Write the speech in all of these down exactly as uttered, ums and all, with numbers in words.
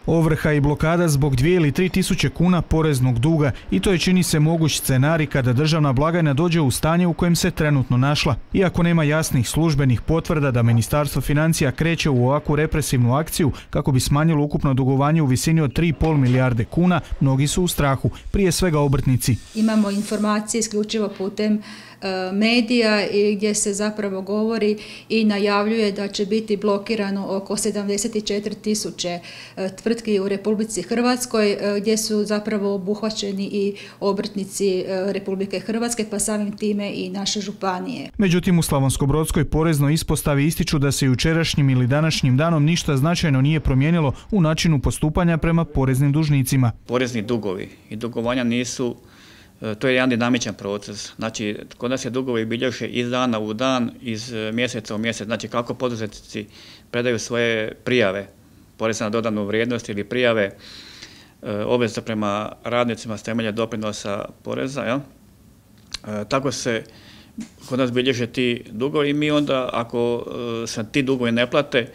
Ovrha i blokada zbog dvije ili tri tisuće kuna poreznog duga i to je, čini se, moguć scenarij kada državna blagajna dođe u stanje u kojem se trenutno našla. Iako nema jasnih službenih potvrda da Ministarstvo financija kreće u ovakvu represivnu akciju kako bi smanjilo ukupno dugovanje u visini od tri i pol milijarde kuna, mnogi su u strahu, prije svega obrtnici. Imamo informacije isključivo putem medija gdje se zapravo govori i najavljuje da će biti blokirano oko sedamdeset četiri tisuće tvrtki u Republici Hrvatskoj, gdje su zapravo obuhvaćeni i obrtnici Republike Hrvatske, pa samim time i naše županije. Međutim, u Slavonsko-brodskoj poreznoj ispostavi ističu da se jučerašnjim ili današnjim danom ništa značajno nije promijenilo u načinu postupanja prema poreznim dužnicima. Porezni dugovi i dugovanja nisu, to je jedan dinamičan proces. Znači, kod nas se dugovi bilježe iz dana u dan, iz mjeseca u mjesec. Znači, kako poduzetnici predaju svoje prijave, poreza na dodanu vrijednost ili prijave obveza prema radnicima s temelja doprinosa poreza, ja? E, tako se kod nas bilježe ti dugovi i mi onda, ako se ti dugovi ne plate,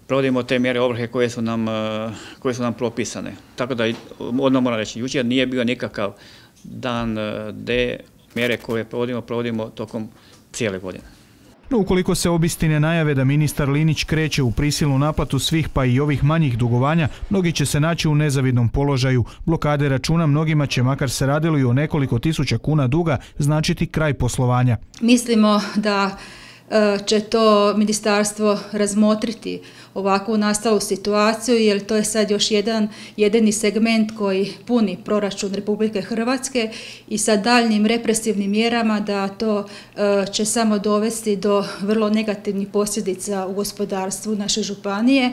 provodimo te mjere ovrhe koje su nam, koje su nam propisane. Tako da, odmah moram reći, jučer nije bio nikakav dan D, mjere koje provodimo, provodimo tokom cijele godine. No, ukoliko se obistine najave da ministar Linić kreće u prisilnu naplatu svih pa i ovih manjih dugovanja, mnogi će se naći u nezavidnom položaju. Blokade računa mnogima će, makar se radilo i o nekoliko tisuća kuna duga, značiti kraj poslovanja. Mislimo da će to ministarstvo razmotriti ovakvu nastalu situaciju, jer to je sad još jedan jedini segment koji puni proračun Republike Hrvatske i sa daljnjim represivnim mjerama da to će samo dovesti do vrlo negativnih posljedica u gospodarstvu naše županije,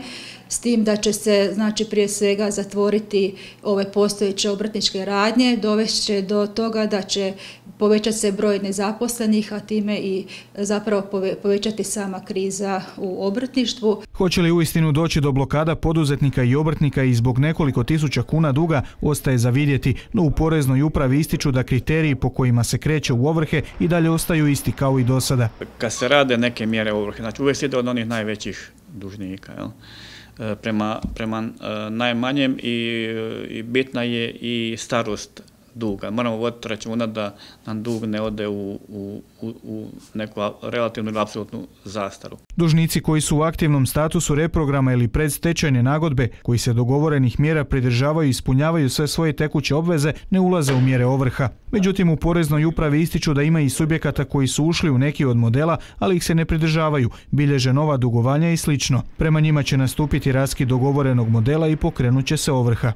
s tim da će se, znači, prije svega zatvoriti ove postojeće obrtničke radnje, dovest će do toga da će povećati se broj nezaposlenih, a time i zapravo povećati sama kriza u obrtništvu. Hoće li uistinu doći do blokada poduzetnika i obrtnika i zbog nekoliko tisuća kuna duga, ostaje za vidjeti, no u poreznoj upravi ističu da kriteriji po kojima se kreće u ovrhe i dalje ostaju isti kao i do sada. Kad se rade neke mjere ovrhe, znači uvijek se ide od onih najvećih dužnika, jel? Prema, prema najmanjem i, i bitna je i starost duga. Moramo voditi računa da nam dug ne ode u, u, u neku relativnu ili apsolutnu zastaru. Dužnici koji su u aktivnom statusu reprograma ili predstečajne nagodbe, koji se dogovorenih mjera pridržavaju i ispunjavaju sve svoje tekuće obveze, ne ulaze u mjere ovrha. Međutim, u poreznoj upravi ističu da ima i subjekata koji su ušli u neki od modela, ali ih se ne pridržavaju, bilježe nova dugovanja i slično. Prema njima će nastupiti raskid dogovorenog modela i pokrenut će se ovrha.